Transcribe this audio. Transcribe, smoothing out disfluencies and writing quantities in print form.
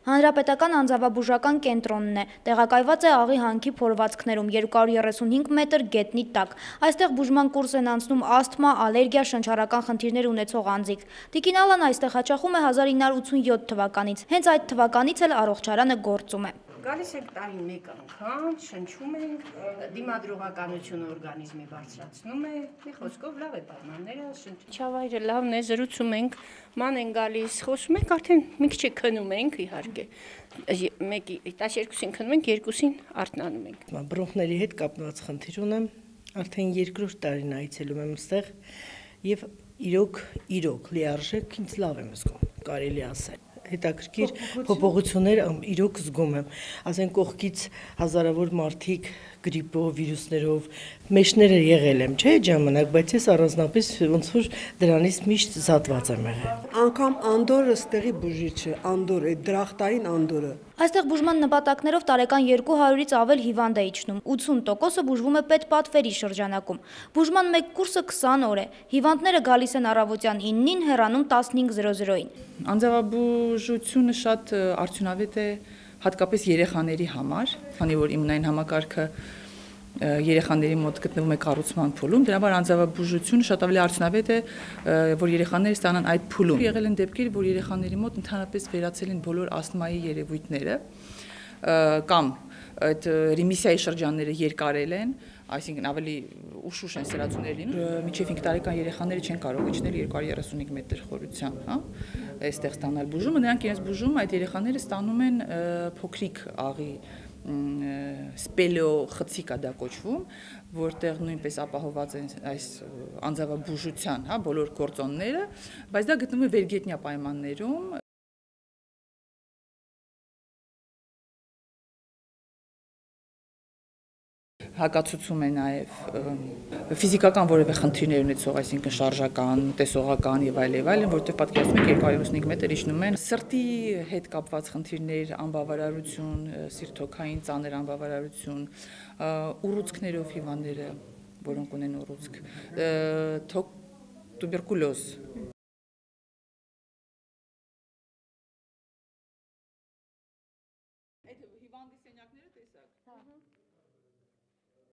Հանրապետական անձավաբուժական կենտրոնն է, տեղակայված է աղի հանքի փորվածքներում 235 մետր գետնի տակ։ Այստեղ բուժման կուրս են անցնում ասթմա, ալերգիա, շնչառական խնդիրներ ունեցող անձիկ։ Տիկին Ալան այստեղ հաճախում է 1987 թվականից, հենց այդ թվականից էլ առողջարանը գործում է։ Գալիս ենք տարին մեկ անգամ, շնչում ենք, դիմադրողականությունը օրգանիզմի բարձրացնում է, մի խոսքով լավ է պայմանները, շնչավայրը լավն է, զրուցում ենք, ման են գալիս, խոսում ենք, արդեն մի քիչ քնում ենք, իհարկե, մեկի 12-ին քնում ենք, երկուսին արթնանում ենք։ Բրոնխների հետ կապված խնդիր ունեմ, արդեն երկրորդ տարին այցելում եմ այստեղ եւ իրոք լիարժեք ինձ լավ եմ զգում, կարելի ասել։ Հետաքրքիր փոփոխություններ իրոք զգում եմ, ասեն կողքից հազարավոր մարդիկ գրիպով, վիրուսներով մեջները եղել եմ, չէ՞ ժամանակ, բայց ես առանձնապես ոնց որ դրանից միշտ զատված եմ եղել։ Անկամ Անդորը ստեղի բուժիչ է, Անդորը, դրախտային Անդորը։ Այստեղ բուժման նպատակներով տարեկան 200-ից ավել հիվանդ է իջնում, 80%-ը բուժվում է պետպատվերի շրջանակում։ Բուժման մեկ կուրսը 20 օր է։ Հիվանդները գալիս են առավոտյան 9-ին, հեռանում 15:00-ին։ Անձավաբուժությունը շատ արդյունավետ է հատկապես երեխաների համար, քանի որ իմունային համակարգը երեխաների մոտ գտնվում է կառուցման փուլում, դրա համար անձավաբուժությունը շատ ավելի արդյունավետ է, որ երեխաները ստանան այդ փուլում։ Եղել են դեպքեր, որ երեխաների մոտ ընդհանրապես վերացել են բոլոր ասթմայի երևույթները կամ այդ ռեմիսիայի շրջանները երկարել են, այսինքն ավելի ուշ են սրացումներ լինում, մինչև 5 տարեկան երեխաները չեն կարող իջնել 235 մետր խորությամբ, հա, այստեղ ստանալ բուժումը, նրանք իրենց բուժումը այդ երեխաները ստանում են փոքրիկ աղի սպելեո խցիկ է դա կոչվում, որտեղ նույնպես ապահոված են այս անձավաբուժության, հա, բոլոր գործոնները, բայց դա գտնվում է վերգետնյա պայմաններում։ Հակացուցում է նաև ֆիզիկական որևէ խնդիրներ ունեցող, այսինքն շարժական, տեսողական եւ այլն, որտեղ պատկերացնում եք 235 մետր իջնում են սրտի հետ կապված խնդիրներ, անբավարարություն, սիրտոքային ծանր անբավարարություն, ուռուցքներով հիվանդները, որոնք ունեն ուռուցք, տուբերկուլոզ